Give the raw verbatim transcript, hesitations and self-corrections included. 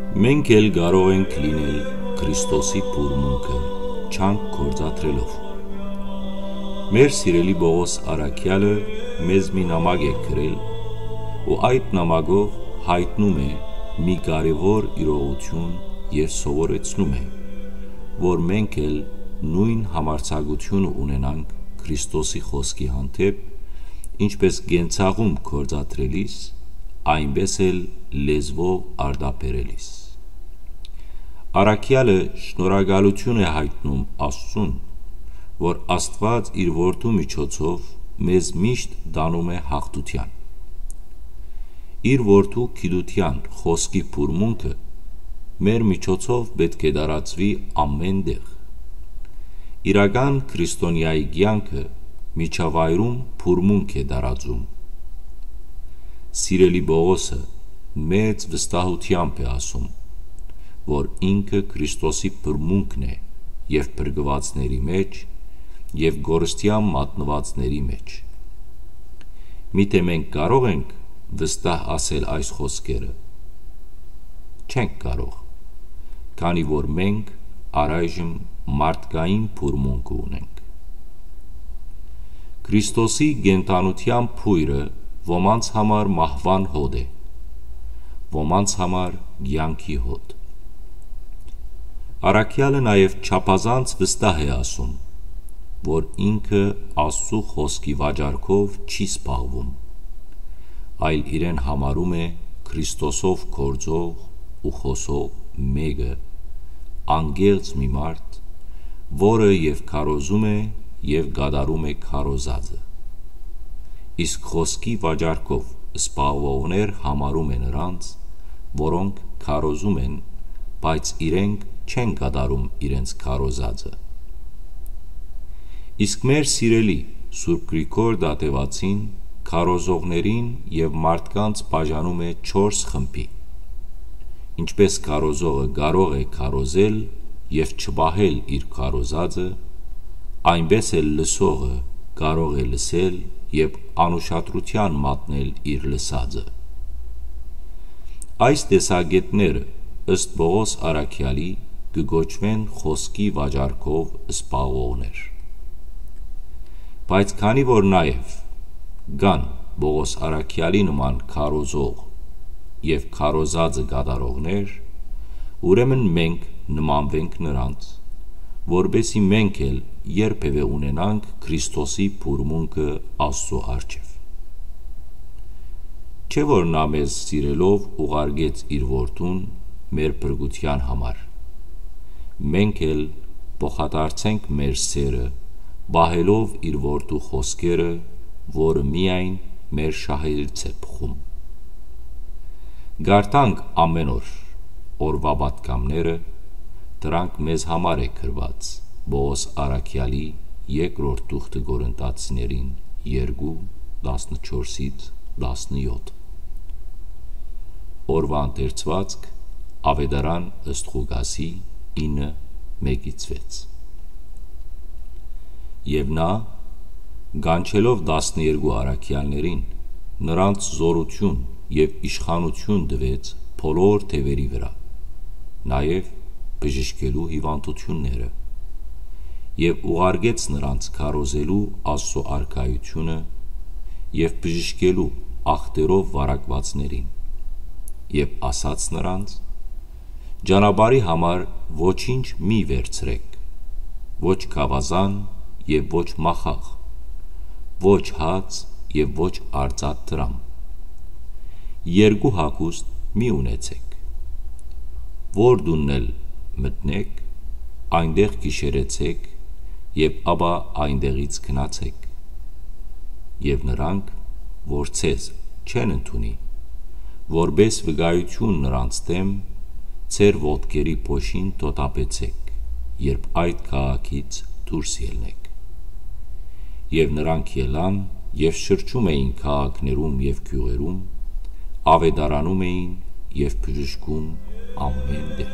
Մենք էլ կարող ենք լինել Քրիստոսի բուրմունքը՝ չանք գործադրելով։ Մեր սիրելի Պողոս առաքեալը մեզ մի նամակ է գրել ու այդ նամակով յայտնում է մի կարեւոր իրողութիւն եւ սովորեցնում է, որ մենք էլ նոյն համարձակութիւնը ունենանք Քրիստոսի խօսքի հանդէպ, ինչպէս կենցաղում գործադրելիս, այնպէս էլ լեզուով արտաբերելիս։ Առաքեալը շնորհակալութիւն է յայտնում Աստծուն, որ Աստուած իր Որդու միջոցով մեզ միշտ տանում է յաղթութեան։ Իր Որդու գիտութեան խօսքի բուրմունքը մեր միջոցով պէտք է տարածուի ամէն տեղ։ Իրական քրիստոնեայի կեանքը միջավայրում բուրմունք է տարածում։ Սիրելի Պողոսը մեծ վստահութեամբ է ասում, որ ինքը Քրիստոսի բուրմունքն է եւ փրկուածների մէջ, եւ կորստեան մատնուածների մէջ։ Միթէ մենք կարո՞ղ ենք վստահ ասել այս խօսքերը։ Չենք կարող, քանի որ մենք առայժմ մարդկային բուրմունքը ունենք։ Քրիստոսի կենդանութեան բոյրը ոմանց համար մահուան հոտ է, ոմանց համար կեանքի հոտ։ Առաքեալը նաեւ չափազանց վստահ է ասում, որ ինքը Աստծու խօսքի վաճառքով չի զբաղվում, այլ իրեն համարում է Քրիստոսով գործող ու խօսող մէկը, անկեղծ մի մարդ, որը եւ քարոզում է, եւ կատարում է քարոզածը։ Իսկ խօսքի վաճառքով զբաղվողներ համարում է նրանց, որոնք քարոզում են, բայց իրենք չեն կատարում իրենց քարոզածը։ Իսկ մեր սիրելի Սուրբ Գրիգոր Դատեվացին քարոզողներին եւ մարդկանց բաժանում է չորս խմբի։ Ինչպէս քարոզողը կարող է քարոզել եւ չպահել իր քարոզածը, այնպէս էլ լսողը կարող է լսել եւ անուշադրութեան մատնել իր լսածը։ Այս տեսակէտները, ըստ Պողոս առաքեալի, կը կոչուեն խօսքի վաճառքով զբաղողներ։ Բայց քանի որ նաեւ կան Պողոս առաքեալի նման քարոզող եւ քարոզածը կատարողներ, ուրեմն մենք նմանվենք նրանց, որպեսզի մենք էլ երբեւէ ունենանք Քրիստոսի բուրմունքը Աստծու առջեւ։ Չէ՞ որ նա մեզ սիրելով ուղարկեց իր Որդուն մեր փրկութեան համար։ Մենք էլ փոխադարձենք մեր սերը, պահելով իր Որդու խօսքերը, որը միայն մեր շահերից է բխում։ Կարդանք ամէն օր օրուայ պատգամները, դրանք մեզ համար է գրուած Պողոս առաքեալի երկրորդ թուղթը Կորինթացիներին երկու, տասնչորսից տասնեօթ։ Օրուայ ընթերցուածք, Աւետարան ըստ Ղուկասի ինը, մէկից վեց։ Եւ նա, կանչելով տասներկու առաքեալներին, նրանց զօրութիւն եւ իշխանութիւն տուեց բոլոր թեւերի վրայ, նաեւ բժշկելու հիւանդութիւնները, եւ ուղարկեց նրանց քարոզելու Աստծու արքայութիւնը եւ բժշկելու ախտերով վարակուածներին, եւ ասաց նրանց. «Ճանապարհի համար ոչինչ մի վերցրէք, ոչ գաւազան եւ ոչ մախաղ, ոչ հաց եւ ոչ արծաթ դրամ։ Երկու հագուստ մի ունեցէք։ Որ տունն էլ մտնէք, այնտեղ գիշերեցէք եւ ապա այնտեղից գնացէք»։ Եւ նրանք, որ ձեզ չեն ընդունի, որպէս վկայութիւն նրանց դէմ, ձեր ոտքերի փոշին թոթափեցէք, երբ այդ քաղաքից դուրս ելնէք։ Եւ նրանք ելան եւ շրջում էին քաղաքներում եւ գիւղերում, աւետարանում էին եւ բժշկում ամէն տեղ։